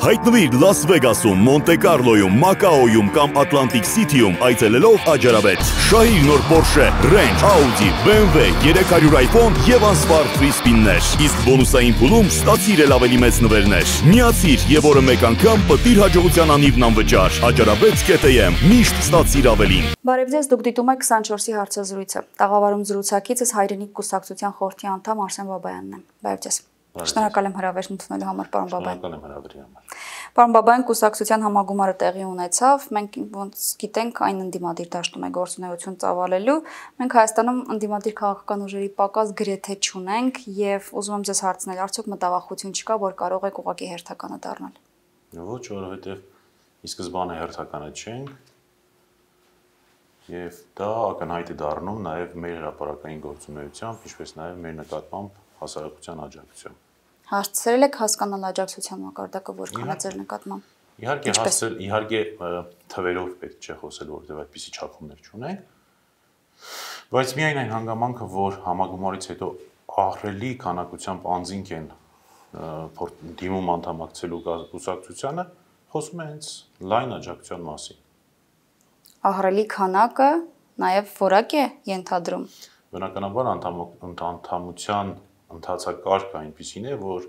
Հայտնվիր Լաս Վեգասում, Մոնտե Կարլոյում, Մակաոյում կամ Atlantic City-ում այցելելով Աջարավետ։ Շահիր նոր Porsche, Range, Audi, BMW, 300 iPhone եւ անսպառ free spin-ներ։ Իսկ բոնուսային փուլում ստացիր էլ ավելի մեծ նվերներ։ Միացիր եւ օրը մեկ անգամ պտիր հաջողության անիվն անվճար։ Աջարավետ.am միշտ ստացիր ավելին։ Բարև ձեզ, դուք դիտում եք 24-ի հարցազրույցը։ Տաղավարում զրուցակիցս Հայրենիք կուսակցության խորհրդի անդամ Արսեն Բաբայանն է։ Բարև ձեզ։ Շնորհակալ եմ հրավերն ընդունելու համար, պարոն Բաբայան։ Շնորհակալ եմ հրավերի համար։ Պարոն Բաբայան, կուսակցության համագումարը տեղի ունեցավ։ Մենք ոնց գիտենք, այն ընդդիմադիր դաշտում է գործունեություն ծավալելու։ Մենք Հայաստանում ընդդիմադիր քաղաքական ուժերի պակաս գրեթե չունենք եւ ուզում եմ ձեզ հարցնել, արդյոք մտավախություն չկա, որ կարող եք ուղղակի հերթականը դառնալ։ Ոչ, որովհետեւ ի սկզբանե հերթականը չենք եւ դա ակնհայտ է դառնում նաեւ մեր հրապարակային գործունեությամբ, ինչպես նաեւ մեր նկատմամբ հասարակության աջակցությամբ։ Հասցրել եք հասկանալ աջակցության մակարդակը որքան է ձեր նկատմամբ։ Իհարկե հասցրել, իհարկե թվերով պետք չէ խոսել, որովհետեւ այդպիսի չափումներ չունենք, բայց միայն այն հանգամանքը, որ համագումարից հետո ահռելի քանակությամբ անձինք են դիմում անդամակցելու կուսակցությանը, խոսում է հենց լայն աջակցության մասին։ Ահռելի քանակը նաև որակ է ենթադրում։ Բնականաբար անդամության ընթացակարգը այնպիսին է, որ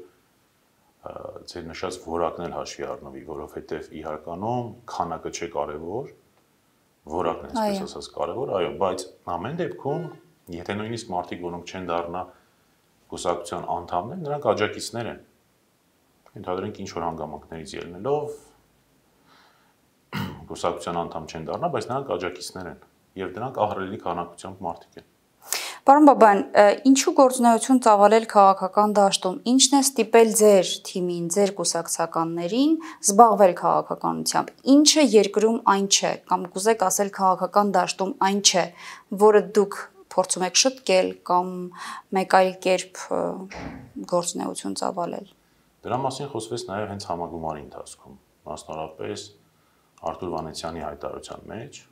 ձեր նշած որակն էլ հաշվի առնվի, որովհետև իհարկանում քանակը չէ կարևոր, որակն է, այսպես ասած, կարևոր, այո, բայց ամեն դեպքում, եթե նույնիսկ մարդիկ, որոնք չեն դառնա կուսակցության անդամներ, նրանք աջակիցներ են։ Ենթադրենք ինչ-որ հանգամանքներից ելնելով կուսակցության անդամ չեն դառնա, բայց նրանք աջակիցներ են, եւ դրանք ահռելի քանակությամբ մարդիկ են։ Պարոն Բաբայան, ինչու գործունեություն ծավալել քաղաքական դաշտում, ինչն է ստիպել ձեր թիմին, ձեր կուսակցականներին զբաղվել քաղաքականությամբ, ինչը երկրում այն չէ, կամ կուզեք ասել քաղաքական դաշտում այն չէ, որը դուք փորձում եք շտկել կամ մեկ այլ կերպ գործունեություն ծավալել։ Դրա մասին խոսվեց նաև հենց համագումարի ընթացքում, մասնավորապես Արթուր Վանեցյանի հայտարարության մեջ։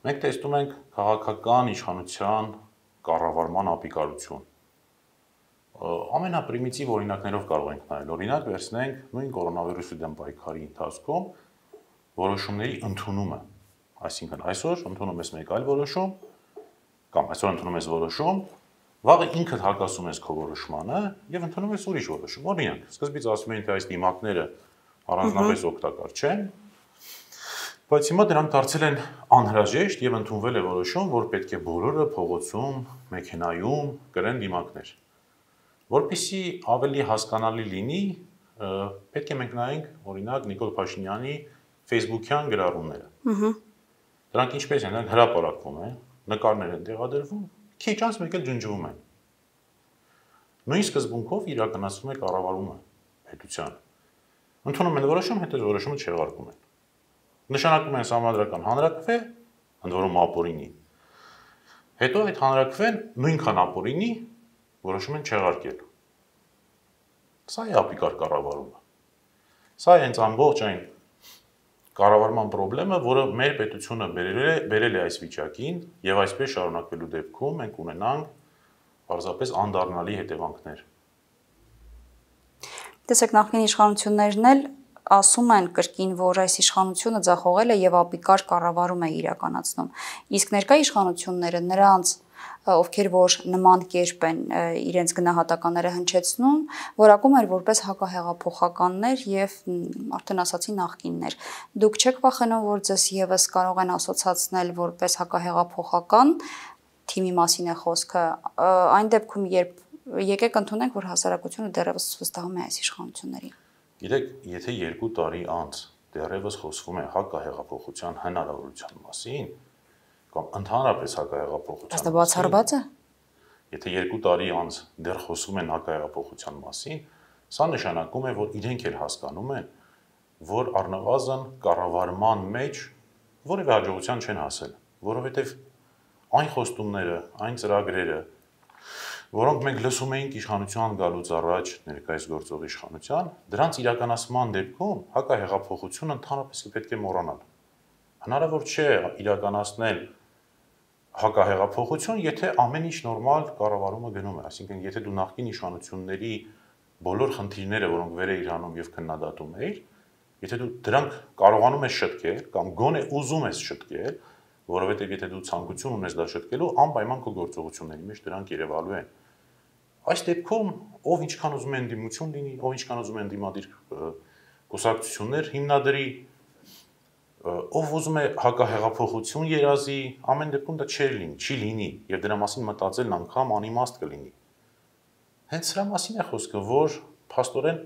Մենք տեսնում ենք քաղաքական իշխանության կառավարման ապիկարություն։ Ամենապրիմիտիվ օրինակներով կարող ենք նայել։ Օրինակ վերցնենք նույն կորոնավիրուսի դեմ պայքարի ընթացքում որոշումների ընդունումը։ Այսինքն այսօր ընդունում ես մեկ այլ որոշում, կամ այսօր ընդունում ես որոշում, վաղը ինքդ հակասում ես քո որոշմանը եւ ընդունում ես ուրիշ որոշում։ Օրինակ, սկզբից ասում էին, թե այս դիմակները առանձնապես օգտակար չեն, բայց հիմա դրանք դարձել են անհրաժեշտ եւ ընդունվել է որոշում, որ պետք է բոլորը փողոցում, մեքենայում կրեն դիմակներ։ Որպեսզի ավելի հասկանալի լինի, պետք է մենք նայենք, օրինակ, Նիկոլ Փաշինյանի Facebook-յան գրառումները։ Դրանք ինչպես են, դրանք հրապարակվում են, նկարներ են տեղադրվում, քիչ անց մեկ էլ ջնջվում են։ Նույն սկզբունքով իրականացվում է կառավարումը պետության։ Ընդունում են որոշում, հետո որոշումը չեղարկում են։ Նշանակում են սահմանադրական հանրաքվե, ընդ որում ապօրինի։ Հետո այդ հանրաքվեն նույնքան ապօրինի որոշում են չեղարկել։ Սա է ապիկար կառավարումը։ Սա է հենց ամբողջ այն կառավարման խնդրեմը, որը մեր պետությունը բերել է այս վիճակին, եւ այսպես շարունակվելու դեպքում մենք ունենանք պարզապես անդառնալի հետևանքներ։ Տեսեք, նախկին իշխանություններն էլ ասում են կրկին, որ այս իշխանությունը ձախողել է եւ ապիկար կառավարում է իրականացնում։ Իսկ ներկա իշխանությունները նրանց, ովքեր որ նման կերպ են իրենց գնահատականները հնչեցնում, որակում էր որպես հակահեղափոխականներ եւ արդեն ասացի նախկիններ։ Դուք չեք վախենում, որ ձեզ եւս կարող են ասոցացնել որպես հակահեղափոխական, թիմի մասին է խոսքը, այն դեպքում, երբ եկեք ընդունենք, որ հասարակությունը դեռևս վստահում է այս իշխանություններին։ Գիտեք, եթե 2 տարի անց դեռևս խոսվում է հակահեղափոխության հնարավորության մասին, կամ ընդհանրապես հակահեղափոխության մասին, բացառված է։ Եթե 2 տարի անց դեռ խոսում են հակահեղափոխության մասին, սա նշանակում է, որ իրենք էլ հասկանում են, որ առնվազն կառավարման մեջ որևէ հաջողության չեն հասել, որովհետև այն խոստումները, այն ծրագրերը, որոնք մենք լսում էինք իշխանության գալուց առաջ ներկայիս գործող իշխանության, դրանց իրականացման դեպքում հակահեղափոխությունը ընդհանրապես պետք է մոռանալ։ Հնարավոր չէ իրականացնել հակահեղափոխություն, եթե ամեն ինչ նորմալ կառավարումը գնում է, այսինքն եթե դու նախկին իշխանությունների բոլոր խնդիրները, որոնք վեր է իրանում եւ քննադատում է, եթե դու դրանք կարողանում ես շտկել կամ գոնե ուզում ես շտկել, որովհետեւ եթե դու ցանկություն ունես դա շտկելու, անպայման քո գործողությունների մեջ դրանք երևալու են։ Այս դեպքում ով ինչքան ուզում է ընդդիմություն լինի, ով ինչքան ուզում է ընդդիմադիր կուսակցություններ հիմնադրի, ով ուզում է հակահեղափոխություն երազի, ամեն դեպքում դա չի լինի եւ դրա մասին մտածելն անգամ անիմաստ կլինի։ Հենց սրա մասին է խոսքը, որ փաստորեն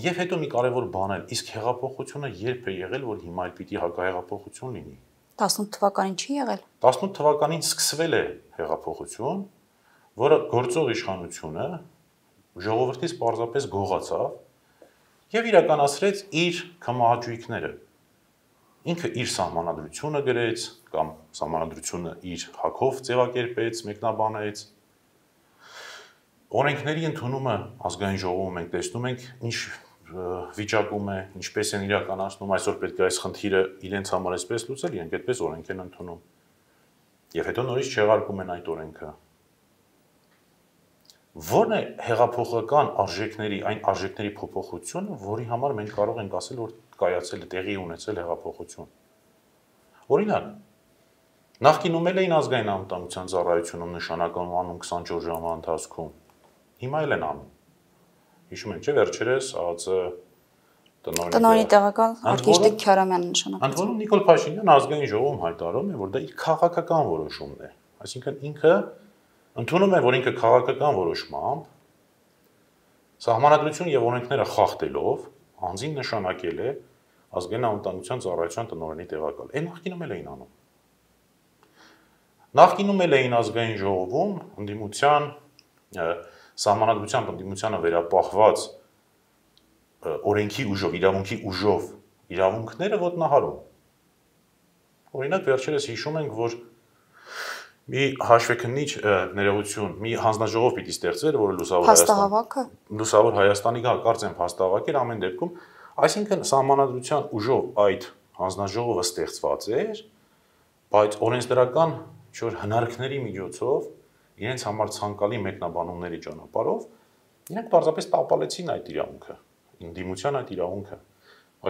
եւ հետո մի կարեւոր բան է, իսկ հեղափոխությունը երբ է եղել, որ հիմա էլ պիտի հակահեղափոխություն լինի։ 18 թվականին չի եղել։ 18 թվականին սկսվել է հեղափոխություն, որը գործող իշխանությունը ժողովրդից պարզապես գողացավ եւ իրականացրեց իր կամահաճույքները։ Ինքը իր սահմանադրությունը գրեց կամ սահմանադրությունը իր հակով ձևակերպեց, մեկնաբանեց։ Օրենքների ընդունումը ազգային ժողովում մենք տեսնում ենք ինչ վիճակում է, ինչպես են իրականացնում, այսօր պետք է այս խնդիրը իրենց համար այսպես լուծել, իրենք այդպես օրենք են ընդունում։ Եվ հետո նորից չեղարկում են այդ օրենքը։ Որն է հեղափոխական արժեքների, այն արժեքների փոփոխությունը, որի համար մենք կարող ենք ասել, որ կայացել է, տեղի ունեցել հեղափոխություն։ Օրինակ, նախկինում էլ էին ազգային անվտանգության ծառայությունում նշանակում անում 24 ժամվա ընթացքում։ Հիմա էլ են անում։ Հիշում եք, չէ՞, վերջերս ԱԱԾ տնօրենի տեղակալ Արգիշտիկ Քյարամյանը նշանակում։ Ընդ որում Նիկոլ Փաշինյանը ազգային ժողովում հայտարարում է, որ դա իր քաղաքական որոշումն է։ Այսինքն ինքը ընդունում է, որ ինքը քաղաքական որոշմամբ սահմանադրություն եւ օրենքները խախտելով անձին նշանակել է ազգային անվտանգության ծառայության տնօրենի տեղակալ։ Այն նախկինում էլ էին անում։ Նախկինում էլ էին ազգային ժողովում ընդդիմության սահմանադրությամբ ընդդիմությանը վերապահված օրենքի ուժով, իրավունքի ուժով իրավունքները ոտնահարում։ Օրինակ վերջերս հիշում ենք, որ մի հաշվեկնիչ ներողություն, մի հանձնաժողով պիտի ստեղծվեր, որը Լուսավոր Հայաստանի կարծեմ փաստահավաք էր ամեն դեպքում, այսինքն սահմանադրության ուժով այդ հանձնաժողովը ստեղծված էր, բայց օրենսդրական ինչ-որ հնարքների միջոցով իրենց համար ցանկալի մեկնաբանումների ճանապարհով իրենք պարզապես տապալեցին այդ իրավունքը, ընդդիմության այդ իրավունքը,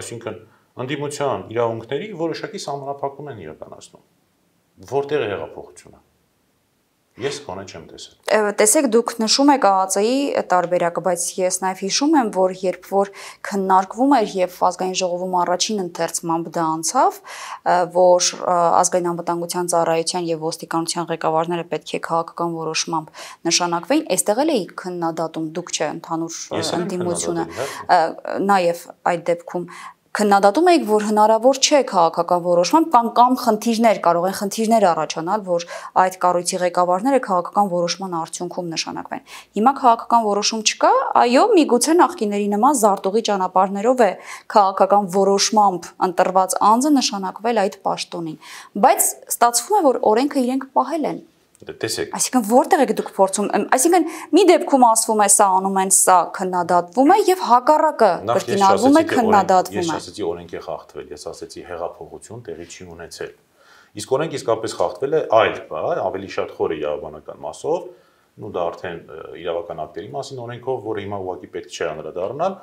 այսինքն ընդդիմության իրավունքների որոշակի սահմանափակում են իրականացնում։ Որտեղ է հեղափոխությունը։ Ես կոնե չեմ տեսել։ Տեսեք, դուք նշում եք ԱԱԾ-ի տարբերակը, բայց ես նաև հիշում եմ, որ երբ որ քննարկվում էր եւ ազգային ժողովում առաջին ընթերցմամբ դա անցավ, որ ազգային անվտանգության ծառայության եւ ոստիկանության ղեկավարները պետք է քաղաքական որոշմամբ նշանակվեին, այստեղ էլ էի քննադատում, դուք չէ, ընդհանուր ընդդիմությունը, նաև այդ դեպքում քննադատում եք, որ հնարավոր չէ քաղաքական որոշմամբ կամ խնդիրներ կարող են խնդիրներ առաջանալ, որ այդ կառույցի ղեկավարները քաղաքական որոշման արդյունքում նշանակվեն։ Հիմա քաղաքական որոշում չկա, այո, միգուցե նախկիների նման զարտուղի ճանապարհներով է քաղաքական որոշմամբ ընտրված անձը նշանակվել այդ պաշտոնին, բայց ստացվում է, որ օրենքը իրենք պահել են։ Տեսեք։ Այսինքն որտեղ եք դուք փորձում, այսինքն մի դեպքում ասվում է սա անում են, սա քննադատվում է եւ հակառակը կրկինարվում է, քննադատվում է։ Ես ասացի օրենք է խախտվել, ես ասացի հեղափոխություն տեղի չի ունեցել։ Իսկ օրենք իսկապես խախտվել է այլ, ավելի շատ խոր իրավաբանական մասով, ու դա արդեն իրավական ակտերի մասին օրենքով, որը հիմա ուղղակի պետք չէ անդրադառնալ,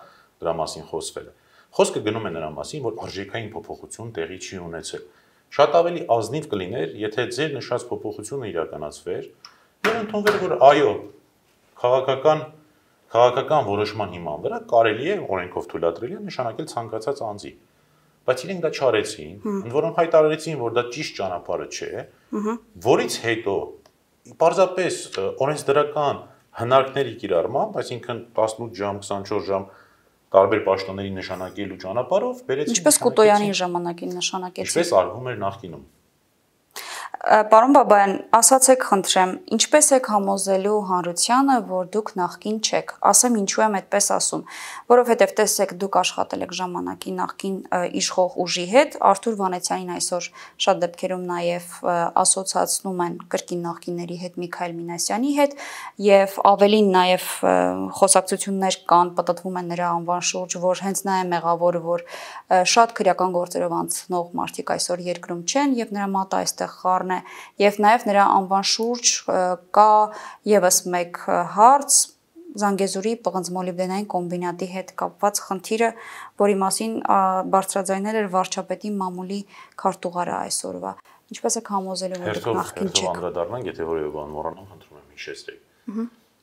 դրա մասին խոսվել է։ Խոսքը գնում է նրա մասին, որ արժեքային փոփոխություն տեղի չի ունեցել։ Շատ ավելի ազնիվ կլիներ, եթե ձեր նշած փոփոխությունը իրականացվեր, եւ ընդունվեր, որ այո, քաղաքական որոշման հիման վրա կարելի է օրենքով թույլատրելի է նշանակել ցանկացած անձի։ Բայց իրենք դա չարեցին, ընդ որում հայտարարեցին, որ դա ճիշտ ճանապարհը չէ, որից հետո պարզապես օրենսդրական հնարքների կիրառմամբ, այսինքն 18 ժամ, 24 ժամ տարբեր պաշտոնների նշանակելու ճանապարհով բերեցին։ Ինչպես Կուտոյանի ժամանակին նշանակեցին։ Ինչպես արվում էր նախկինում։ Պարոն Բաբայան, ասացեք խնդրեմ, ինչպես եք համոզելու հանրությանը, որ դուք նախկին չեք։ Ասեմ ինչու եմ այդպես ասում, որովհետև տեսեք, դուք աշխատել եք ժամանակի նախկին իշխող ուժի հետ, Արթուր Վանեցյանին այսօր շատ դեպքերում նաև ասոցացնում են կրկին նախկինների հետ, Միքայել Մինասյանի հետ, եւ ավելին նաև խոսակցություններ կան, պատտվում են նրա անվան շուրջ, որ հենց նա է մեղավորը, որ շատ քրեական գործերով անցնող մարդիկ այսօր երկրում չեն եւ նրա մատը այստեղ խառն Եվ նաև նրա անվան շուրջ կա եւս մեկ հարց, Զանգեզուրի պղնձմոլիբդենային կոմբինատի հետ կապված խնդիրը, որի մասին բարձրաձայնել էր վարչապետի մամուլի քարտուղարը այսօրվա։ Ինչպես եք համոզելու, որ դուք նախկին չեք։ Անդրադառնանք, եթե որևէ բան մոռանամ, խնդրում եմ հիշեցրեք։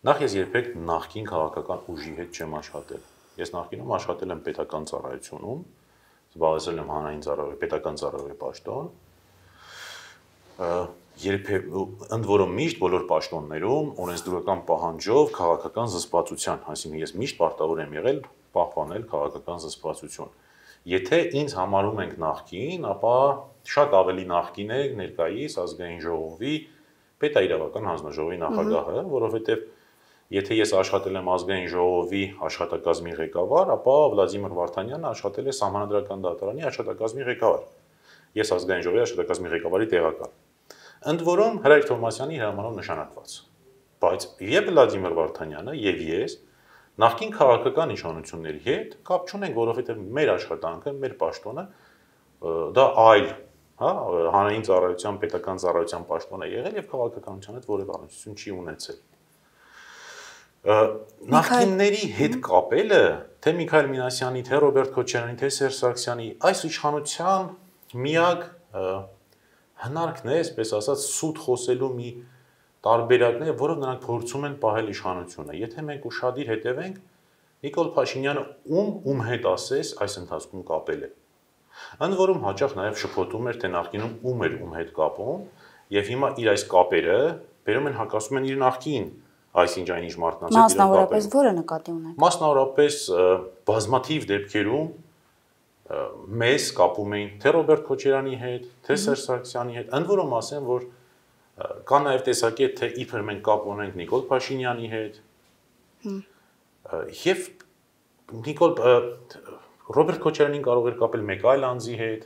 Նախ ես երբեք նախկին քաղաքական ուժի հետ չեմ աշխատել։ Ես նախկինում աշխատել եմ պետական ծառայությունում, զբաղեցրել եմ հանրային ծառայողի, պետական ծառայողի պաշտոն։ Ընդ որում միշտ բոլոր պաշտոններում օրենսդրական պահանջով քաղաքական զսպվածության, այսինքն ես միշտ պարտավոր եմ եղել պահպանել քաղաքական զսպվածություն։ Եթե ինձ համարում ենք նախկին, ապա շատ ավելի նախկին է ներկայիս ազգային ժողովի պետաիրավական հանձնաժողովի նախագահը, որովհետև եթե ես աշխատել եմ ազգային ժողովի աշխատակազմի ղեկավար, ապա Վլադիմիր Վարդանյանը աշխատել է Սահմանադրական դատարանի աշխատակազմի ղեկավար։ Ես ազգային ժողովի աշխատակազմի ղեկավարի տեղակալ։ Ընդ որում Հրայր Թովմասյանի հրամանով նշանակված։ Բայց եւ Վլադիմիր Վարդանյանը եւ ես նախկին քաղաքական իշխանությունների հետ կապ չունենք, որովհետեւ մեր աշխատանքը, մեր պաշտոնը դա այլ, հա, հանրային ծառայության, պետական ծառայության պաշտոն է եղել եւ քաղաքականության հետ որևէ առնչություն չի ունեցել։ Նախկինների հետ կապելը, թե Միքայել Մինասյանի, թե Ռոբերտ Քոչարյանի, թե Սերժ Սարգսյանի, այս իշխանության միակ հնարքն է, այսպես ասած, սուտ խոսելու մի տարբերակն է, որով նրանք փորձում են պահել իշխանությունը։ Եթե մենք ուշադիր հետևենք, Նիկոլ Փաշինյանը ում հետ ասես այս ընթացքում կապել է։ Ընդ որում հաճախ նաև շփոթում էր, թե նախկինում ում էր ում հետ կապում, եւ հիմա իր այս կապերը բերում են հակասում են իր նախկին այսինչ այնինչ մարդկանց հետ իրար կապել։ Մասնավորապես որը նկատի ունեք։ Մասնավորապես բազմաթիվ դեպքերում մեզ կապում էին թե Ռոբերտ Քոչարյանի հետ, թե Սերժ Սարգսյանի հետ, ընդ որում ասեմ, որ կա նաև տեսակետ, թե իբր մենք կապ ունենք Նիկոլ Փաշինյանի հետ։ Եվ Ռոբերտ Քոչարյանին կարող էր կապել մեկ այլ անձի հետ,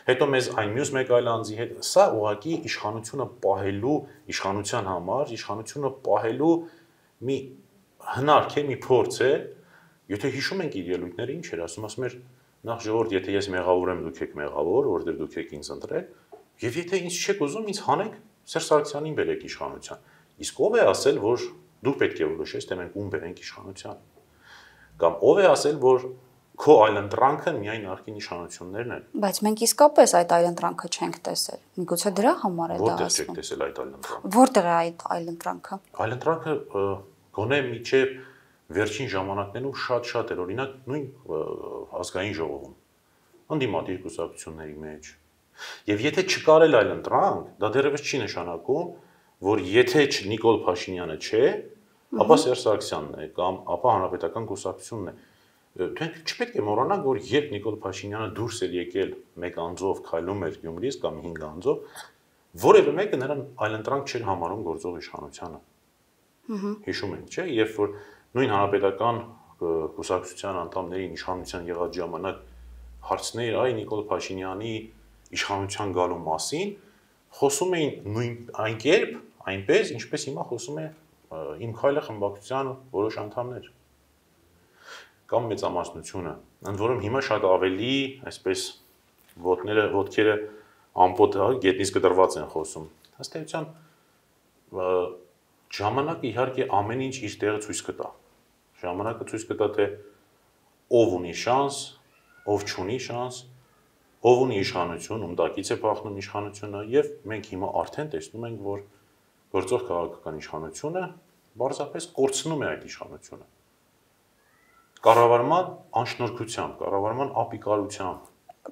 հետո մեզ այն մյուս մեկ այլ անձի հետ։ Սա ուղղակի իշխանությունը պահելու, իշխանության համար, իշխանությունը պահելու մի հնարք է, մի փորձ է։ Եթե հիշում ենք իր ելույթները, ինչ էր ասում էր նախ ժողովուրդ, եթե ես մեղավոր եմ, դուք եք մեղավոր, որովհետև դուք եք ինձ ընտրել, եւ եթե ինձ չեք ուզում, ինձ հանեք Սերժ Սարգսյանին բերեք իշխանության։ Իսկ ով է ասել, որ դու պետք է որոշես, թե մենք ում բերենք իշխանության։ Կամ ով է ասել, որ քո այլընտրանքը միայն նախկին իշխանություններն են։ Բայց մենք իսկապես այդ այլընտրանքը չենք տեսել։ Միգուցե դրա համար է դա ասում։ Որտեղ չեք տեսել այդ այլընտրանքը։ Որտեղ է այդ այլընտրանքը։ Այլընտրանքը գոնե միջև վերջին ժամանակներում շատ էր, օրինակ նույն ազգային ժողովում, ընդդիմադիր կուսակցությունների մեջ։ Եվ եթե չկարել այլընտրանք, դա դեռևս չի նշանակում, որ եթե Նիկոլ Փաշինյանը չէ, ապա Սերժ Սարգսյանն է կամ ապա Հանրապետական կուսակցությունն է։ Դուք չպետք է մոռանաք, որ երբ Նիկոլ Փաշինյանը դուրս էր եկել մեկ անձով քայլում էր Գյումրից կամ 5 անձով, որևէ մեկը նրան այլընտրանք չէր համարում գործող իշխանությանը։ Հիշում եք, չէ՞, երբ որ նույն Հանրապետական կուսակցության անդամներին իշխանության եղած ժամանակ հարցներ այ Նիկոլ Փաշինյանի իշխանության գալու մասին, խոսում էին նույն այն կերպ, այնպես, ինչպես հիմա խոսում է Իմ քայլը խմբակցության որոշ անդամներ կամ մեծամասնությունը, ընդ որում հիմա շատ ավելի, այսպես ոտքերը ամպոտ գետնից կտրված են խոսում։ Ըստ էության ժամանակը իհարկե ամեն ինչ իր տեղը ցույց կտա։ Ժամանակը ցույց կտա, թե ով ունի շանս, ով չունի շանս, ով ունի իշխանություն, ում տակից է փախնում իշխանությունը, եւ մենք հիմա արդեն տեսնում ենք, որ գործող քաղաքական իշխանությունը բարձրապես կորցնում է այդ իշխանությունը։ Կառավարման անշնորհքությամբ, կառավարման ապիկարությամբ։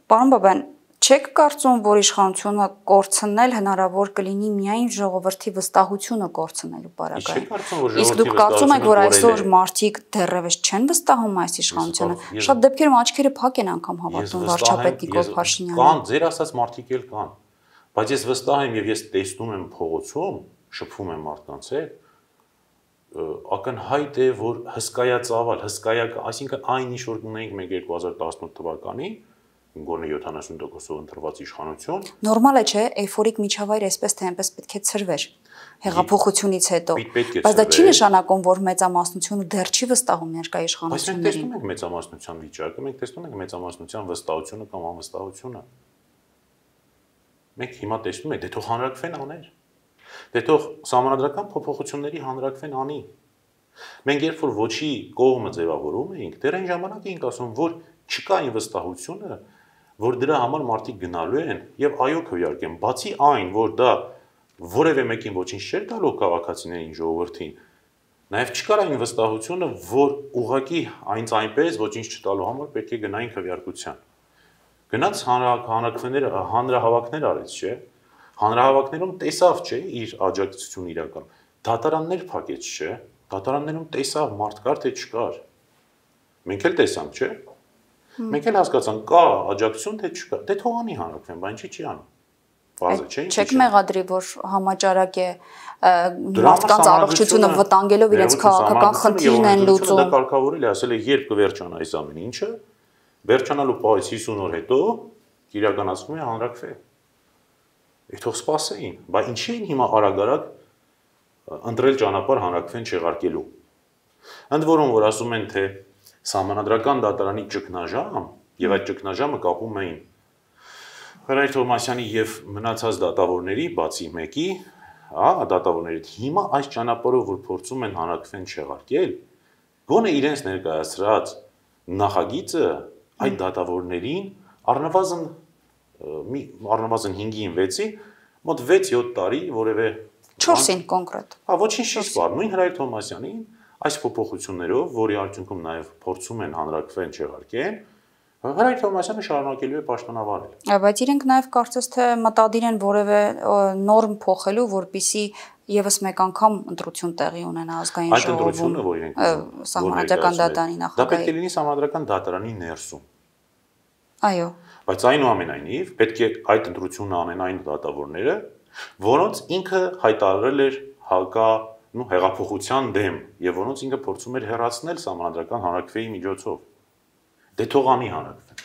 Պարոն Բաբյան, չեք կարծում, որ իշխանությունը կորցնել հնարավոր կլինի միայն ժողովրդի վստահությունը կորցնելու պարագայում։ Իսկ դուք կարծում եք, որ այսօր մարդիկ դեռևս չեն վստահում այս իշխանությանը։ Շատ դեպքերում աչքերը փակ են անգամ հավատում վարչապետ Նիկոլ Փաշինյանին։ Կան, ձեր ասած մարդիկ էլ կան։ Բայց ես վստահ եմ եւ ես տեսնում եմ փողոցում, շփվում եմ մարդկանց հետ, ակնհայտ է, որ հսկայածավալ, այսինքն այն ինչ որ ունենք մենք 2018 թվականին, գոնե 70%-ով ընտրված իշխանություն։ Նորմալ է, չէ՞, էյֆորիկ միջավայր այսպես թե այնպես պետք է ցրվեր հեղափոխությունից հետո։ Բայց դա չի նշանակում, որ մեծամասնությունը դեռ չի վստահում ներկա իշխանություններին։ Բայց մենք տեսնում ենք մեծամասնության վիճակը, մենք տեսնում ենք մեծամասնության վստահությունը կամ անվստահությունը։ Մենք հիմա տեսնում ենք, դե թող հանրակրվեն աներ։ Դե թող սահմանադրական փոփոխությունների հանրակրվեն անի։ Մենք երբ որ ոչի կողմը ձևավորում էինք, դեռ այն ժամանակ էինք ասում, որ չկա այն վստահությունը, որ դրա համար մարդիկ գնալու են եւ այո քվեարկեն, բացի այն, որ դա որևէ մեկին ոչինչ չէր տալու քաղաքացիներին ժողովրդին, նաեւ չկար այն վստահությունը, որ ուղղակի այնպես ոչինչ չտալու համար պետք է գնային քվեարկության։ Գնաց հանրահավաքներ արեց, չէ՞։ Հանրահավաքներում տեսավ, չէ՞, իր աջակցությունը իրական։ Դատարաններ փակեց, չէ՞։ Դատարաններում տեսավ մարդ կար թե չկար։ Մենք էլ տեսանք, չէ՞։ Մենք էլ հասկացանք կա աջակցություն թե չկա։ Դե թողանի հանրաքվեն, բան չի անում։ Բազը չէ՞։ Չեք մեղադրի, որ համաճարակ է մարդկանց առողջությունը վտանգելով իրենց քաղաքական խնդիրն են լուծում։ Դա կարգավորել է, ասել է, երբ կվերջանա այս ամեն ինչը, վերջանալու պահից 50 օր հետո իրականացվում է հանրաքվե։ Թող սպասեին, բայց ինչի են հիմա արագ ընտրել ճանապարհ հանրաքվեն չեղարկելու։ Ընդ որում, որ ասում են, թե Սահմանադրական դատարանի ճգնաժամ եւ այդ ճգնաժամը կապում էին Հրայր Թովմասյանի եւ մնացած դատավորների, բացի մեկի, դատավորներից հիմա այս ճանապարհով որ փորձում են հանրաքվեն չեղարկել, գոնե իրենց ներկայացրած նախագիծը այդ դատավորներին առնվազն 5-ին 6-ի մոտ 6-7 տարի որևէ 4-ին կոնկրետ։ Ոչինչ չի սպառ, նույն Հրայր Թովմասյանին այս փոփոխություններով, որի արդյունքում նաև փորձում են հանրաքվեն չեղարկեն, Հրայր Թովմասյանը շարունակելու է պաշտոնավարել։ Բայց իրենք նաև կարծես թե մտադիր են որևէ նորմ փոխելու, որպիսի եւս մեկ անգամ ընտրություն տեղի ունենա ազգային ժողովում։ Այդ ընտրությունը, որ իրենք Սահմանադրական դատարանի նախագահի։ Դա պետք է լինի Սահմանադրական դատարանի ներսում։ Այո։ Բայց այնուամենայնիվ պետք է այդ ընտրությունը անեն այն դատավորները, որոնց ինքը հայտարարել էր հեղափոխության դեմ եւ որոնց ինքը փորձում էր հեռացնել Սահմանադրական հանրաքվեի միջոցով։ Դե թողանի հանրաքվեն։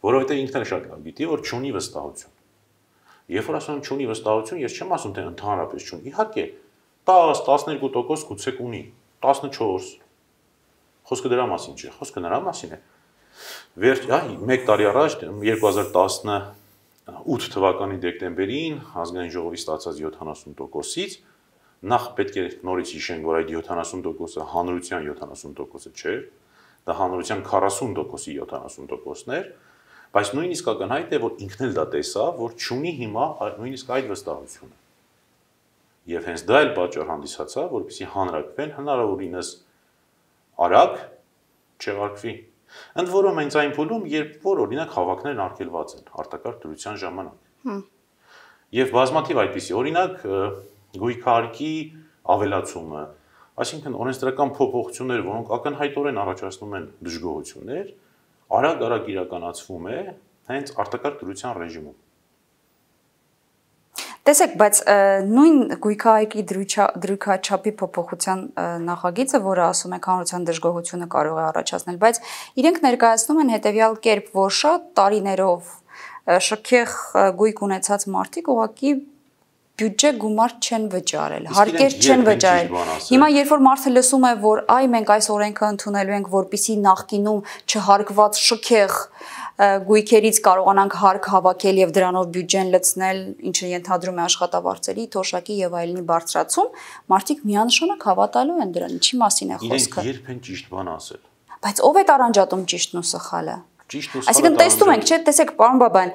Որովհետեւ ինքն էլ շատ լավ գիտի, որ չունի վստահություն։ Երբ որ ասում եմ չունի վստահություն, ես չեմ ասում թե ընդհանրապես չունի։ Իհարկե 10-12% գուցե ունի, 14։ Խոսքը դրա մասին չէ, խոսքը նրա մասին է։ Մեկ տարի առաջ 2018 թվականի դեկտեմբերին ազգային ժողովի ստացած 70%-ից նախ պետք է նորից հիշենք, որ այդ 70%-ը հանրության 70%-ը չէր, դա հանրության 40%-ի 70%-ն էր, բայց նույնիսկ ակնհայտ է, որ ինքն էլ դա տեսավ, որ չունի հիմա նույնիսկ այդ վստահությունը։ Եվ հենց դա էլ պատճառ հանդիսացավ, որպեսզի հանրաքվեն հնարավորինս արագ չեղարկվի։ Ընդ որում հենց այն փուլում, երբ որ օրինակ հավաքներն արգելված են արտակարգ դրության ժամանակ։ Եվ բազմաթիվ այդպիսի, օրինակ գույքարկի ավելացումը, այսինքն օրենսդրական փոփոխություններ, որոնք ակնհայտորեն առաջացնում են դժգոհություններ, արագ իրականացվում է հենց արտակարգ դրության ռեժիմում։ Տեսեք, բայց նույն գույքահայկի դրույքաչափի փոփոխության նախագիծը, որը ասում է հանրության դժգոհությունը կարող է առաջացնել, բայց իրենք ներկայացնում են հետևյալ կերպ, որ շատ տարիներով շքեղ գույք ունեցած մարդիկ ուղղակի բյուջե գումար չեն վճարել, հարկեր չեն վճարել։ Հիմա երբ որ մարդը լսում է, որ մենք այս օրենքը ընդունելու ենք, որպիսի նախկինում չհարկված շքեղ գույքերից կարողանանք հարկ հավաքել եւ դրանով բյուջեն լցնել, ինչը ենթադրում է աշխատավարձերի, թոշակի եւ այլնի բարձրացում, մարդիկ միանշանակ հավատալու են դրան, ինչի մասին է խոսքը։ Իրենք երբ են ճիշտ բան ասել։ Բայց ով է տարանջատում ճիշտն ու սխալը։ Այսինքն տեսնում ենք, չէ՞, տեսեք, պարոն Բաբայան,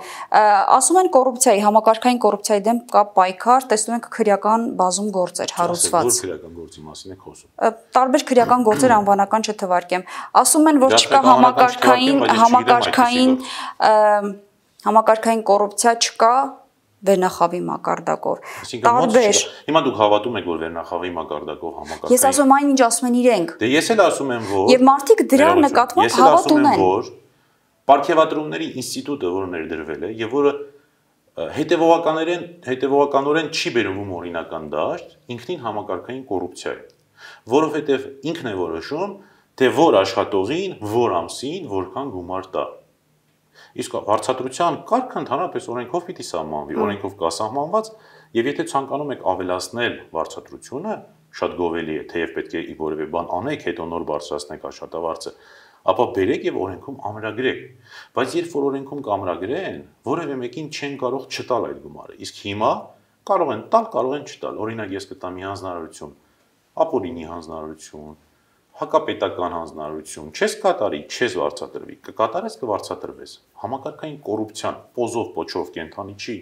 ասում են կոռուպցիայի, համակարգային կոռուպցիայի դեմ կա պայքար, տեսնում ենք քրեական բազում գործեր հարուցված։ Որ քրեական գործի մասին եք խոսում։ Տարբեր քրեական գործեր անվանական չթվարկեմ։ Ասում են, որ չկա համակարգային կոռուպցիա չկա վերնախավի մակարդակով։ Տարբեր։ Հիմա դուք հավատում եք, որ վերնախավի մակարդակով համակարգային։ Ես ասում եմ այն, ինչ ասում են իրենք։ Դե ես էլ ասում եմ, որ եւ մարդիկ դրա նկատմամբ հավատ ունեն։ Պարգևատրումների ինստիտուտը, որը ներդրվել է եւ որը հետեւողականորեն չի բերվում օրինական դաշտ, ինքնին համակարգային կոռուպցիա է, որովհետեւ ինքն է որոշում, թե որ աշխատողին, որ ամսին, որքան գումար տա։ Իսկ վարձատրության կարգը ընդհանրապես օրենքով պիտի սահմանվի, օրենքով կա սահմանված, եւ եթե ցանկանում եք ավելացնել վարձատրությունը, շատ գովելի է, թեև պետք է որևէ բան անեք, հետո նոր բարձրացնեք աշխատավարձը, ապա բերեք եւ օրենքում ամրագրեք, բայց երբ որ օրենքում կամրագրեն, որևէ մեկին չեն կարող չտալ այդ գումարը, իսկ հիմա կարող են տալ, կարող են չտալ, օրինակ ես կտամ մի հանձնարարություն, ապօրինի հանձնարարություն, հակապետական հանձնարարություն, չես կատարի, չես վարձատրվի, կկատարես կվարձատրվես։ Համակարգային կոռուպցիան պոզով պոչով կենթանի չի։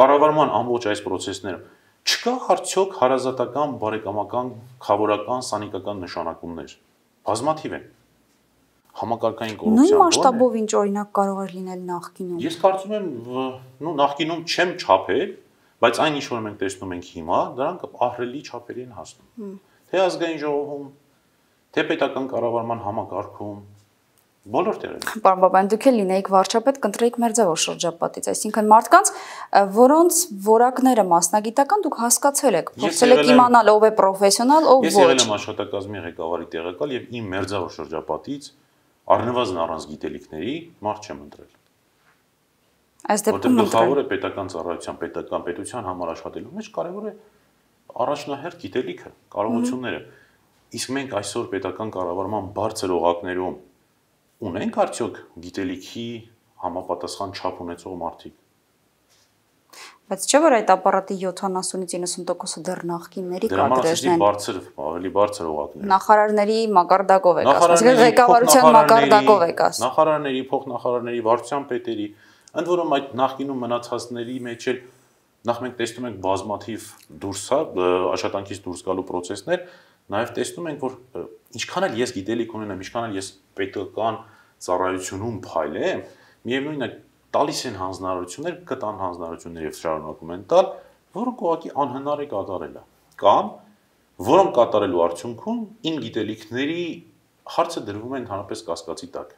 Կառավարման ամբողջ այս process-ները չկա արդյոք հարազատական, բարեկամական, խավորական, սանիկական նշանակումներ։ Բազմաթիվ են։ Համակարգային կոռուպցիան նույն մասշտաբով ինչ օրինակ կարող էր լինել նախկինում։ Ես կարծում եմ, նախկինում չեմ չափել, բայց այն ինչ որ մենք տեսնում ենք հիմա, դրանք ահռելի չափերի են հասնում։ Թե ազգային ժողովում, թե պետական կառավարման համակարգում, բոլոր տեղերում։ Պարոն Բաբայան, դուք էլ լինեիք վարչապետ, կընտրեիք մերձավոր շրջապատից, այսինքն մարդկանց, որոնց որակները մասնագիտական դուք հասկացել եք, փորձել եք իմանալ ով է պրոֆեսիոնալ, ով ոչ։ Ես եղել եմ աշխատակազմի ղեկավարի տեղակալ եւ իմ մերձավոր շրջապատից առնվազն առանց գիտելիքների մարդ չեմ ընտրել։ Այս դեպքում գլխավոր է պետական ծառայության, պետության համար աշխատելու մեջ կարևոր է առաջնահերթ գիտելիքը, կարողությունները։ Իսկ մենք այսօր պետական կառավարման բարձր օղակներում ունենք արդյոք գիտելիքի համապատասխան չափ ունեցող մարդիկ։ Բայց չէ՞ որ այդ ապարատի 70-ից 90%-ը դեռ նախկինների կադրերն են։ Բարձր, ավելի բարձր օղակներ։ Նախարարների մակարդակով եք ասում, այսինքն ղեկավարության մակարդակով եք ասում։ Նախարարների, փոխնախարարների, վարչության պետերի, ընդ որում այդ նախկինում մնացածների մեջ էլ նախ մենք տեսնում ենք բազմաթիվ աշխատանքից դուրս գալու process-ներ, նաև տեսնում ենք, որ ինչքան էլ ես գիտելիք ունենամ, ինչքան էլ ես պետական ծառայությունում փայլեմ, միևնույնն է տալիս են հանձնարարություններ, կտան հանձնարարություններ եւ շարունակում են տալ, որոնք ուղղակի անհնար է կատարելը, կամ որոնք կատարելու արդյունքում իմ գիտելիքների հարցը դրվում է ընդհանրապես կասկածի տակ,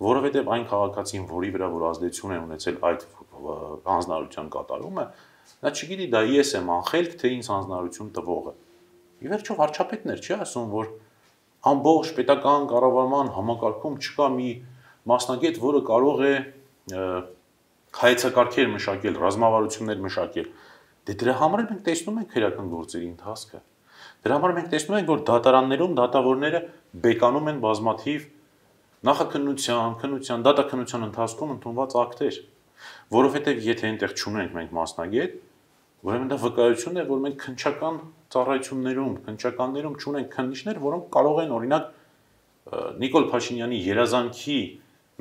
որովհետեւ այն քաղաքացին, որի վրա որ ազդեցություն է ունեցել այդ հանձնարարության կատարումը, նա չգիտի դա ես եմ անխելք, թե ինձ հանձնարարություն տվողը։ Ի վերջո վարչապետն էր, չի ասում, որ ամբողջ պետական կառավարման համակարգում չկա մի մասնագետ, որը կարող է հայեցակարգեր մշակել, ռազմավարություններ մշակել։ Դե դրա համար մենք տեսնում ենք քրեական գործերի ընթացքը։ Դրա համար մենք տեսնում ենք, որ դատարաններում դատավորները բեկանում են բազմաթիվ նախաքննության, դատաքննության ընթացքում ընդունված ակտեր, որովհետև եթե այնտեղ չունենք մենք մասնագետ, ուրեմն դա վկայություն է, որ մենք քննչական ծառայություններում, քննչականներում չունենք քննիչներ, որոնք կարող են օրինակ Նիկոլ Փաշինյանի երազանքի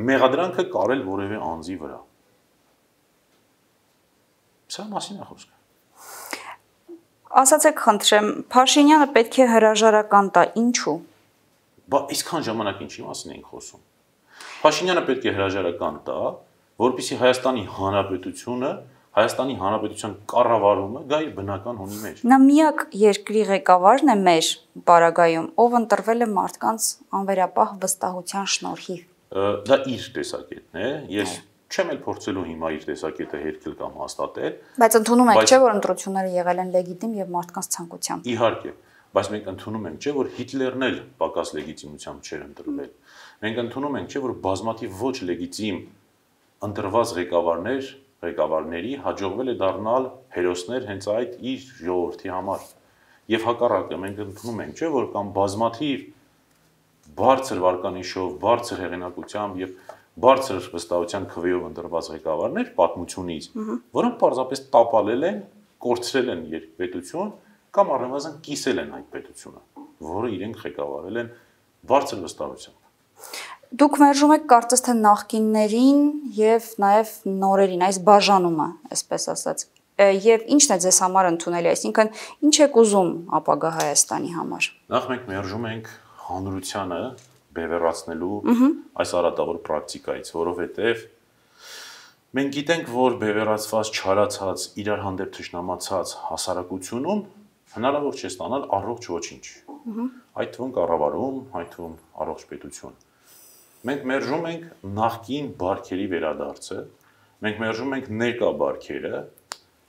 մեղադրանքը կարել որևէ անձի վրա։ Սա մասին է խոսքը։ Ասացեք, խնդրեմ, Փաշինյանը պետք է հրաժարական տա, ինչու։ Բա այսքան ժամանակ ինչի մասին ենք խոսում։ Փաշինյանը պետք է հրաժարական տա, որպեսզի Հայաստանի Հանրապետությունը, Հայաստանի Հանրապետության կառավարումը գա իր բնական հունի մեջ։ Նա միակ երկրի ղեկավարն է մեր պարագայում, ով ընտրվել է մարդկանց անվերապահ վստահության շնորհիվ։ Դա իր տեսակետն է, ես չեմ էլ փորձելու հիմա իր տեսակետը հերքել կամ հաստատել։ Բայց ընդունում եք, չէ՞ որ ընտրությունները եղել են լեգիտիմ եւ մարդկանց ցանկությամբ։ Իհարկե, բայց մենք ընդունում ենք, չէ՞ որ Հիտլերն էլ պակաս լեգիտիմությամբ չէր ընտրվել։ Մենք ընդունում ենք, չէ՞ որ բազմաթիվ ոչ լեգիտիմ ընտրված ղեկավարների հաջողվել է դառնալ հերոսներ հենց այդ իր ժողովրդի համար։ Եվ հակառակը մենք ընդունում ենք, չէ՞ որ կամ բազմաթիվ բարձր վարկանիշով, բարձր հեղինակությամբ եւ բարձր վստահության քվեով ընտրված ղեկավարներ պատմությունից, որոնք պարզապես տապալել են, կորցրել են երկպետություն կամ առնվազն կիսել են այդ պետությունը, որը իրենք ղեկավարել են բարձր վստահությամբ։ Դուք մերժում եք կարծես թե նախկիններին եւ նաեւ նորերին, այս բաժանումը, այսպես ասած։ Եվ ի՞նչն է ձեզ համար ընդունելի, այսինքն ինչ եք ուզում ապագա Հայաստանի համար։ Նախ մենք մերժում ենք հանրությանը բևեռացնելու այս արատավոր պրակտիկայից, որովհետև մենք գիտենք, որ բևեռացված, չարացած, իրար հանդեպ թշնամացած հասարակությունում հնարավոր չէ ստանալ առողջ ոչինչ։ Այդ թվում կառավարում, այդ թվում առողջ պետություն։ Մենք մերժում ենք նախկին բարքերի վերադարձը, մենք մերժում ենք ներկա բարքերը,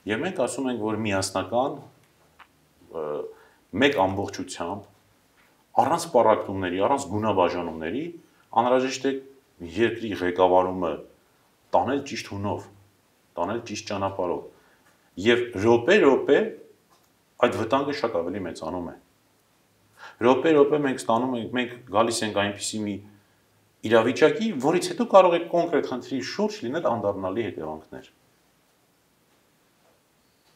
եւ մենք ասում ենք, որ միասնական մեկ ամբողջությամբ առանց պառակտումների, առանց գունաբաժանումների անհրաժեշտ է երկրի ղեկավարումը տանել ճիշտ հունով, տանել ճիշտ ճանապարհով։ Եվ րոպե այդ վտանգը շատ ավելի մեծանում է։ Րոպե մենք ստանում ենք, մենք գալիս ենք այնպիսի մի իրավիճակի, որից հետո կարող է կոնկրետ խնդրի շուրջ լինել անդառնալի հետևանքներ։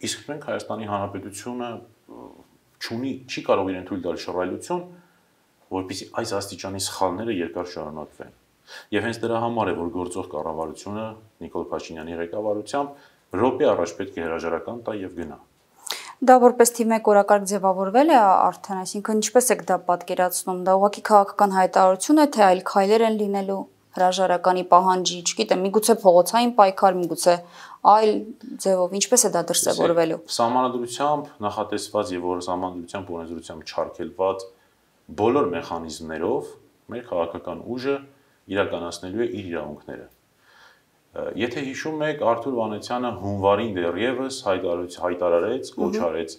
Իսկ մենք Հայաստանի Հանրապետությունը չի կարող իրեն թույլ տալ շռայլություն, որպեսզի այս աստիճանի սխալները երկար շարունակվեն։ Եվ հենց դրա համար է, որ գործող կառավարությունը Նիկոլ Փաշինյանի ղեկավարությամբ րոպե առաջ պետք է հրաժարական տա եւ գնա։ Դա որպես թիվ 1 օրակարգ ձևավորվել է արդեն, այսինքն ինչպես եք դա պատկերացնում, դա ուղղակի քաղաքական հայտարարություն է, թե այլ քայլեր են լինելու հրաժարականի պահանջի, չգիտեմ, միգուցե փողոցային պայքար, միգուցե այլ ձևով, ինչպես է դա դրսևորվելու։ Սահմանադրությամբ նախատեսված եւ որ սահմանադրությամբ օրենսդրությամբ չարգելված բոլոր մեխանիզմներով մեր քաղաքական ուժը իրականացնելու է իր իրավունքները։ Եթե հիշում եք, Արթուր Վանեցյանը հունվարին դեռևս հայտարարեց, կոչ արեց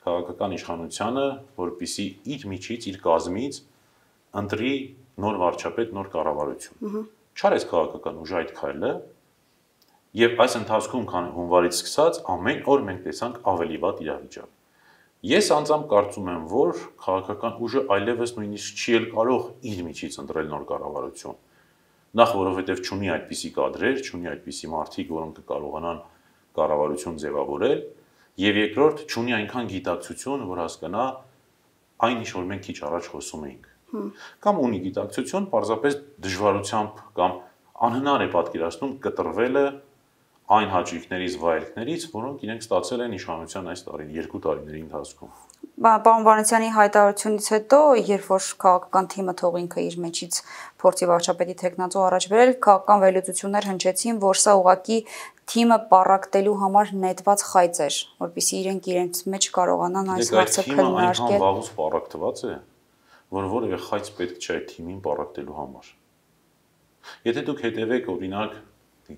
քաղաքական իշխանությանը, որպեսզի իր միջից, իր կազմից ընտրի նոր վարչապետ, նոր կառավարություն։ Չարեց քաղաքական ուժը այդ քայլը, եւ այս ընթացքում, քան հունվարից սկսած, ամեն օր մենք տեսանք ավելի վատ իրավիճակ։ Ես անձամբ կարծում եմ, որ քաղաքական ուժը այլևս նույնիսկ չի կարող իր միջից ընտրել նոր կառավարություն։ Նախ որովհետև չունի այդպիսի կադրեր, չունի այդպիսի մարդիկ, որոնք կկարողանան կառավարություն ձևավորել, եւ երկրորդ չունի այնքան գիտակցություն, որ հասկանա այն ինչ որ մենք քիչ առաջ խոսում էինք։ Կամ ունի գիտակցություն, պարզապես դժվարությամբ կամ անհնար է պատկերացնում կտրվելը այն հաճույքներից, վայելքներից, որոնք իրենք ստացել են իշխանության այս 2 տարիների ընթացքում։ Պարոն Վանեցյանի հայտարարությունից հետո, երբ որ քաղաքական թիմը թող ինքը իր մեջից փորձի վարչապետի թեկնածու առաջ բերել, քաղաքական վերլուծություններ հնչեցին, որ սա ուղղակի թիմը պառակտելու համար նետված խայծ էր, որպեսզի իրենց մեջ կարողանան այս հարցը քննարկել։ Այնքան վաղուց պառակտված է, որ որևէ խայծ պետք չէ այդ թիմին պառակտելու համար։ Եթե դուք հետևեք օրինակ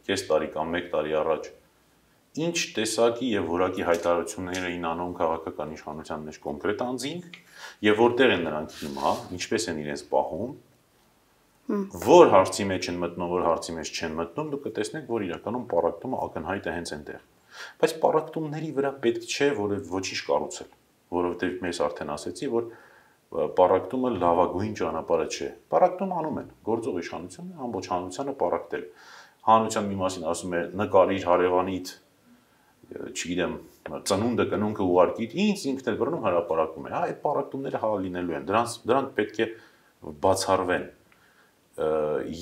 կես տարի կամ 1 տարի առաջ ինչ տեսակի եւ որակի հայտարարություններ էին անում քաղաքական իշխանության մեջ կոնկրետ անձինք եւ որտեղ են նրանք հիմա, ինչպես են իրենց պահում, որ հարցի մեջ են մտնում, որ հարցի մեջ չեն մտնում, դուք կտեսնեք, որ իրականում պառակտումը ակնհայտ է հենց այնտեղ։ Բայց պառակտումների վրա պետք չէ ոչինչ կառուցել, որովհետեւ մեզ արդեն ասեցի, որ պառակտումը լավագույն ճանապարհը չէ։ Պառակտում անում են, գործող իշխանությունը ամբողջ հանրությանը պառակտել։ Հանրության մի մասին ասում է նկարիր հարևանիդ, չգիտեմ, ծնունդը կնունքը ուղարկիր, ինքն էլ բռնում հրապարակում է։ Հա, այդ պառակտումները հա լինելու են։ Դրանք պետք է բացառվեն։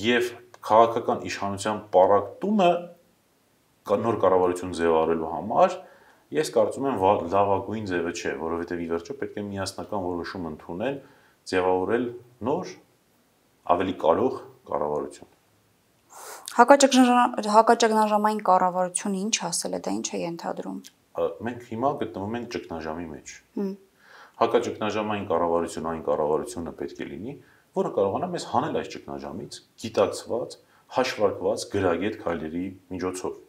Եվ քաղաքական իշխանության պառակտումը նոր կառավարություն ձևավորելու համար ես կարծում եմ լավագույն ձևը չէ, որովհետև ի վերջո պետք է միասնական որոշում ընդունել, ձևավորել նոր, ավելի կարող կառավարություն։ Հակաճգնաժամային կառավարությունը ինչ ասել է, դա ինչ է ենթադրում։ Մենք հիմա գտնվում ենք ճգնաժամի մեջ։ Հակաճգնաժամային կառավարությունը այն կառավարությունը պետք է լինի, որը կարողանա մեզ հանել այս ճգնաժամից, գիտակցված, հաշվարկված, գրագետ քայլերի միջոցով։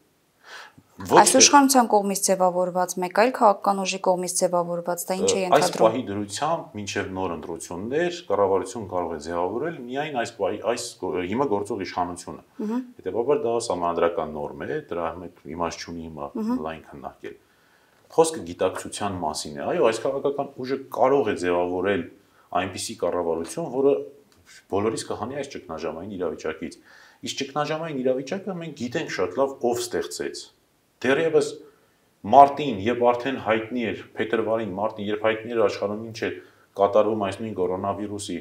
Այս իշխանության կողմից ձևավորված, մեկ այլ քաղաքական ուժի կողմից ձևավորված, դա ինչ է ենթադրում։ Այս պահի դրությամբ մինչև նոր ընտրություններ կառավարություն կարող է ձևավորել միայն այս հիմա գործող իշխանությունը։ Հետևաբար դա սահմանադրական նորմ է, դրա իմաստ չունի հիմա լայն քննարկել։ Խոսքը գիտակցության մասին է, այո, այս քաղաքական ուժը կարող է ձևավորել այնպիսի կառավարություն, որը բոլորիս կհանի այս ճգնաժամային իրավիճակից։ Իսկ ճգնաժամային իրավիճակը մենք գիտենք շատ լավ ով ստեղծեց։ Դեռևս մարտին, երբ արդեն հայտնի էր, փետրվարին, մարտին, երբ հայտնի էր աշխարհում ինչ է կատարվում այս նույն կորոնավիրուսի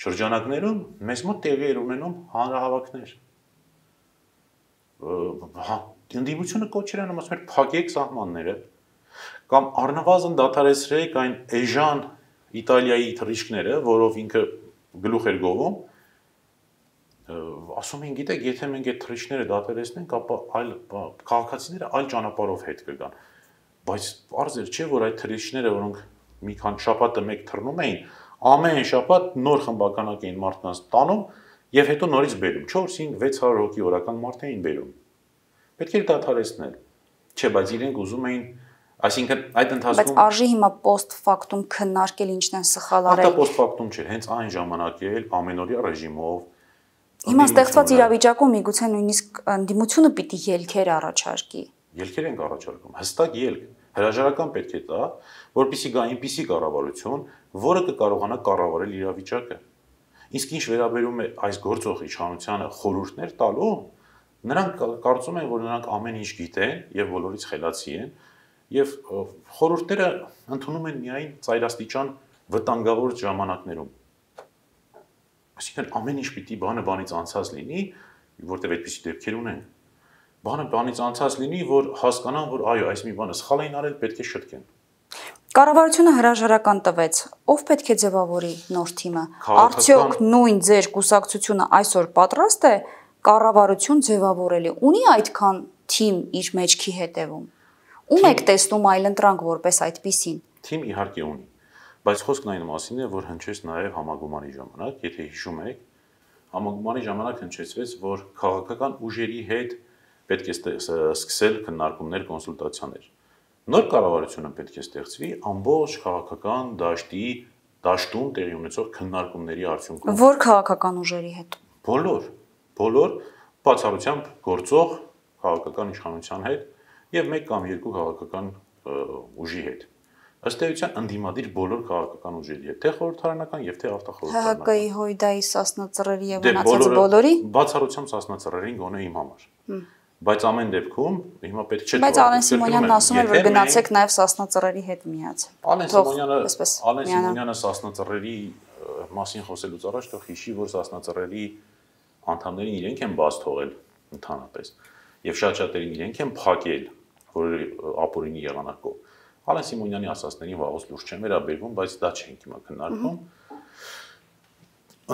շրջանակներում, մեզ մոտ տեղի էր ունենում հանրահավաքներ։ Ընդդիմությունը կոչեր անում, ասում էր փակեք սահմանները կամ առնվազն դադարեցրեք այն էժան Իտալիայի թռիչքները, որով ինքը գլուխ էր գովում, ասում են, գիտեք, եթե մենք այդ թռիչքները դադարեցնենք, ապա այլ քաղաքացիները այլ ճանապարհով հետ կգան։ Բայց պարզ էր, չէ, որ այդ թռիչքները, որոնք մի քանի շաբաթը մեկ թռնում էին, ամեն շաբաթ նոր խմբականակ էին մարդկանց տանում եւ հետո նորից բերում 4-5-600 հոգի օրական մարդ էին բերում։ Պետք էր դադարեցնել։ Չէ, բայց իրենք ուզում էին, այսինքն այդ ընթացքում Բայց արժի հիմա post factum քննարկել ինչն են սխալ արել։ Դա post factum չէ, հենց այն ժամանակ էլ ամենօրյա ռեժիմով Հիմա ստեղծված իրավիճակում միգուցե նույնիսկ ընդդիմությունը պիտի ելքեր առաջարկի։ Ելքեր ենք առաջարկում, հստակ ելք, հրաժարական պետք է տա, որպեսզի գա այնպիսի կառավարություն, որը կկարողանա կառավարել իրավիճակը։ Իսկ ինչ վերաբերում է այս գործող իշխանությանը խորհուրդներ տալու, նրանք կարծում են, որ նրանք ամեն ինչ գիտեն եւ բոլորից խելացի են եւ խորհուրդները ընդունում են միայն ծայրաստիճան վտանգավոր ժամանակներում։ Այսինքն ամեն ինչ պիտի բանից անցած լինի, որտեղ այդպիսի դեպքեր ունեն։ Բանից անցած լինի, որ հասկանան, որ այո, այս մի բանը սխալ էին արել, պետք է շտկեն։ Կառավարությունը հրաժարական տվեց, ով պետք է ձևավորի նոր թիմը։ Արդյոք նույն ձեր կուսակցությունը այսօր պատրաստ է կառավարություն ձևավորելի։ Ունի այդքան թիմ իր մեջքի հետևում։ Ում եք տեսնում այլընտրանք որպես այդպիսին։ Թիմ իհարկե ունի, բայց խոսքն այն մասին է, որ հնչեց նաև համագումարի ժամանակ, եթե հիշում եք, համագումարի ժամանակ հնչեցվեց, որ քաղաքական ուժերի հետ պետք է սկսել քննարկումներ, կոնսուլտացիաներ։ Նոր կառավարությունը պետք է ստեղծվի ամբողջ քաղաքական դաշտում տեղի ունեցող քննարկումների արդյունքում։ Որ քաղաքական ուժերի հետ։ Բոլոր բացառությամբ գործող քաղաքական իշխանության հետ եւ մեկ կամ երկու քաղաքական ուժի հետ։ Ըստ էության ընդդիմադիր բոլոր քաղաքական ուժերի հետ, թե խորհրդարանական եւ թե автախորհրդարանական։ ՀՀԿ-ի հույդայի սասնածռերի եւ մնացած բոլորի բացառությամբ սասնածռերին գոնե իմ համար։ Բայց ամեն դեպքում հիմա պետք չէ։ Բայց Ալեն Սիմոնյանն ասում էր, որ գնացեք նաև սասնածռերի հետ միացեք։ Ալեն Սիմոնյանը սասնածռերի մասին խոսելուց առաջ թող հիշի, որ սասնածռերի անդամներին իրենք են բաց թողել ընդհանրապես եւ շատ-շատերին իրենք են փակել, որ ապօրինի եղանակով։ Ալեն Սիմոնյանի ասածներին վաղուց լուրջ չեն վերաբերվում, բայց դա չենք հիմա քննարկում։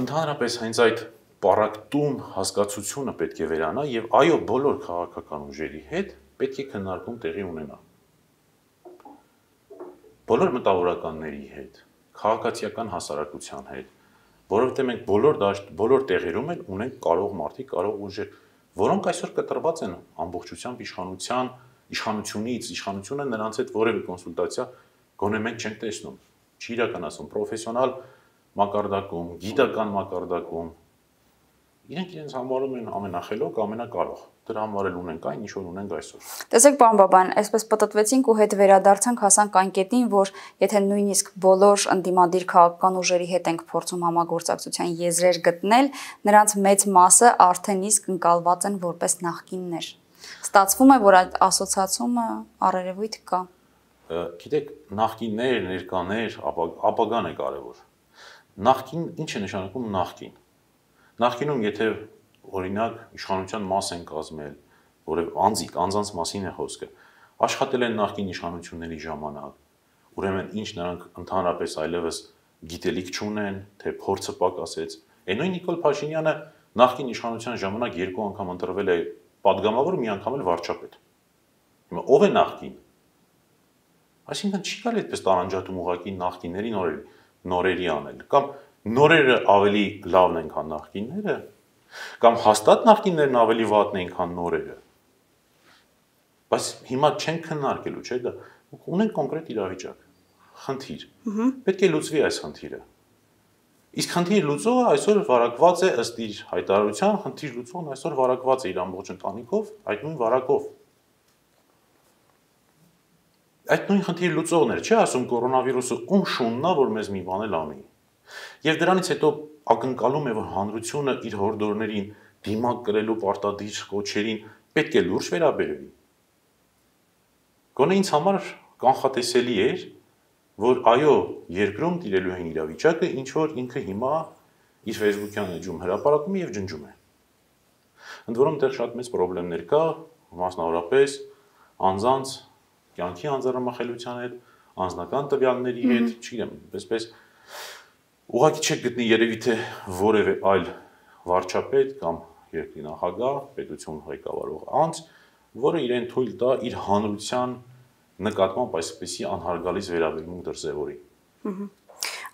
Ընդհանրապես հենց այդ պարակտում հասկացությունը պետք է վերանա եւ այո բոլոր քաղաքական ուժերի հետ պետք է քննարկում տեղի ունենա։ Բոլոր մտավորականների հետ, քաղաքացիական հասարակության հետ, որովհետեւ մենք բոլոր տեղերում էլ ունենք կարող մարդիկ, կարող ուժեր, որոնք այսօր կտրված են ամբողջությամբ իշխանությունից, իշխանությունը նրանց հետ որևէ կոնսուլտացիա գոնե մենք չենք տեսնում, չի իրականացում պրոֆեսիոնալ մակարդակում, գիտական մակարդակում։ Իրենք իրենց համարում են ամենախելոք, ամենակարող։ Դրա համար էլ ունենք այն, ինչ որ ունենք այսօր։ Տեսեք, պարոն Բաբան, այսպես պատտվեցինք ու հետ վերադարձանք, հասանք այն կետին, որ եթե նույնիսկ բոլոր ընդդիմադիր քաղաքական ուժերի հետ ենք փորձում համագործակցության եզրեր գտնել, նրանց մեծ մասը արդեն իսկ ընկալված են որպես նախկիններ։ Ստացվում է, որ այդ ասոցիացումը առերևույթ կա։ Գիտեք, նախկիններ, ներկաներ, ապագան է կարևոր։ Նախկին ինչ է նշանակում նախկին։ Նախկինում եթե օրինակ իշխանության մաս են կազմել, որև անձանց մասին է խոսքը, աշխատել են նախկին իշխանությունների ժամանակ, ուրեմն ինչ նրանք ընդհանրապես այլևս գիտելիք չունեն, թե փորձը պակասեց։ Նույն Նիկոլ Փաշինյանը նախկին իշխանության ժամանակ 2 անգամ ընտրվել է պատգամավոր, մի անգամ էլ վարչապետ։ Հիմա ով է նախկին։ Այսինքն չի կարելի այդպես տարանջատում ուղղակի նախկինների նորերի անել, կամ նորերը ավելի լավն են, քան նախկինները, կամ հաստատ նախկիններն ավելի վատն են, քան նորերը։ Բայց հիմա չենք քննարկելու, չէ՞ դա։ Ունենք կոնկրետ իրավիճակ, խնդիր։ Պետք է լուծվի այս խնդիրը։ Իսկ խնդիր լուծողը այսօր վարակված է ըստ իր հայտարարության, խնդիր լուծողն այսօր վարակված է իր ամբողջ ընտանիքով, այդ նույն վարակով։ Այդ նույն խնդիր լուծողն էր, չէ՞ ասում կորոնավիրուսը ում շուննա, որ մեզ մի բան էլ անի։ Եվ դրանից հետո ակնկալում է, որ հանրությունը իր հորդորներին դիմակ կրելու պարտադիր կոչերին պետք է լուրջ վերաբերվի։ Գոնե ինձ համար կանխատեսելի էր, որ այո, երկրում տիրելու են իրավիճակը, ինչ որ ինքը հիմա իր Facebook-յան էջում հրապարակում է եւ ջնջում է։ Ընդ որում դեռ շատ մեծ խնդիրներ կա, մասնավորապես անձանց կյանքի անձեռնամխելիության հետ, անձնական տվյալների հետ, չգիտեմ, այսպես ուղղակի չեք գտնի երևի թե որևէ այլ վարչապետ կամ երկրի նախագահ, պետություն ղեկավարող անձ, որը իրեն թույլ տա իր հանրության նկատմամբ այսպիսի անհարգալից վերաբերմունք դրսևորի։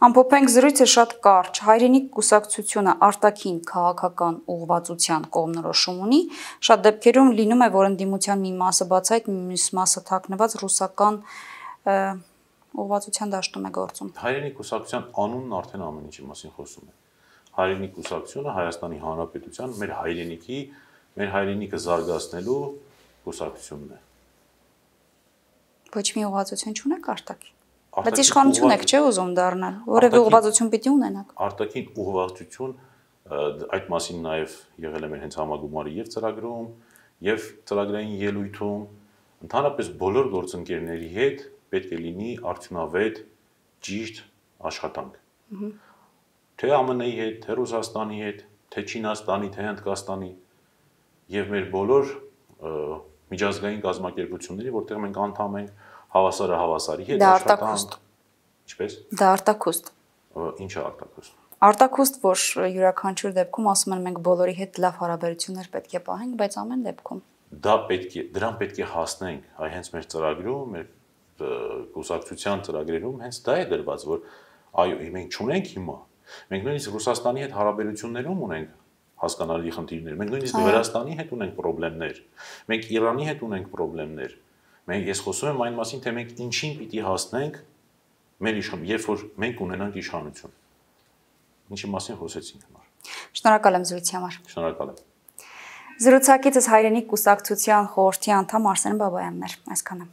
Ամփոփենք զրույցը շատ կարճ։ Հայրենիք կուսակցությունը արտաքին քաղաքական ուղղվածության կողմնորոշում ունի։ Շատ դեպքերում լինում է, որ ընդդիմության մի մասը բացայտ, մյուս մասը թաքնված ռուսական ուղղվածության դաշտում է գործում։ Հայրենիք կուսակցության անունն արդեն ամեն ինչի մասին խոսում է։ Հայրենիք կուսակցությունը Հայաստանի Հանրապետության մեր հայրենիքը զարգացնելու կուսակցությունն է։ Ոչ մի ուղղվածություն չունեք արտաքին։ Բայց իշխանություն եք, չէ՞ ուզում դառնալ։ Որևէ ուղղվածություն պիտի ունենաք։ Արտաքին ուղղվածություն, այդ մասին նաև եղել է մեր հենց համագումարի եւ ծրագրում, եւ ծրագրային ելույթում, Ընդհանրապես բոլոր գործընկերների հետ պետք է լինի արդյունավետ, ճիշտ աշխատանք։ Թե ԱՄՆ-ի հետ, թե Ռուսաստանի հետ, թե Չինաստանի, թե Հնդկաստանի եւ մեր բոլոր միջազգային կազմակերպությունների, որտեղ մենք անդամ ենք, հավասարը հավասարի հետ աշխատանք։ Ինչպես։ Դա արտակուստ։ Ինչը արտակուստ։ Արտակուստ, որ յուրաքանչյուր դեպքում ասում են մենք բոլորի հետ լավ հարաբերություններ պետք է պահենք, բայց ամեն դեպքում դրան պետք է հասնենք, այ հենց մեր ծրագրում, մեր կուսակցության ծրագրերում հենց դա է դրված, որ այո, մենք չունենք հիմա։ Մենք նույնիսկ Ռուսաստանի հետ հարաբերություններում ունենք հասկանալի խնդիրներ։ Մենք նույնիսկ Վրաստանի հետ ունենք խնդիրներ։ Մենք Իրանի հետ ունենք խնդիրներ։ Ես խոսում եմ այն մասին, թե մենք ինչին պիտի հասնենք մեր երբ որ մենք ունենանք իշխանություն։ Ինչի մասին խոսեցինք նոր։ Շնորհակալ եմ զրույցի համար։ Շնորհակալ եմ։ Զրուցակիցս հայրենիք կուսակցության խորհրդի անդամ Արսեն Բաբայանն էր։ Այսքանը։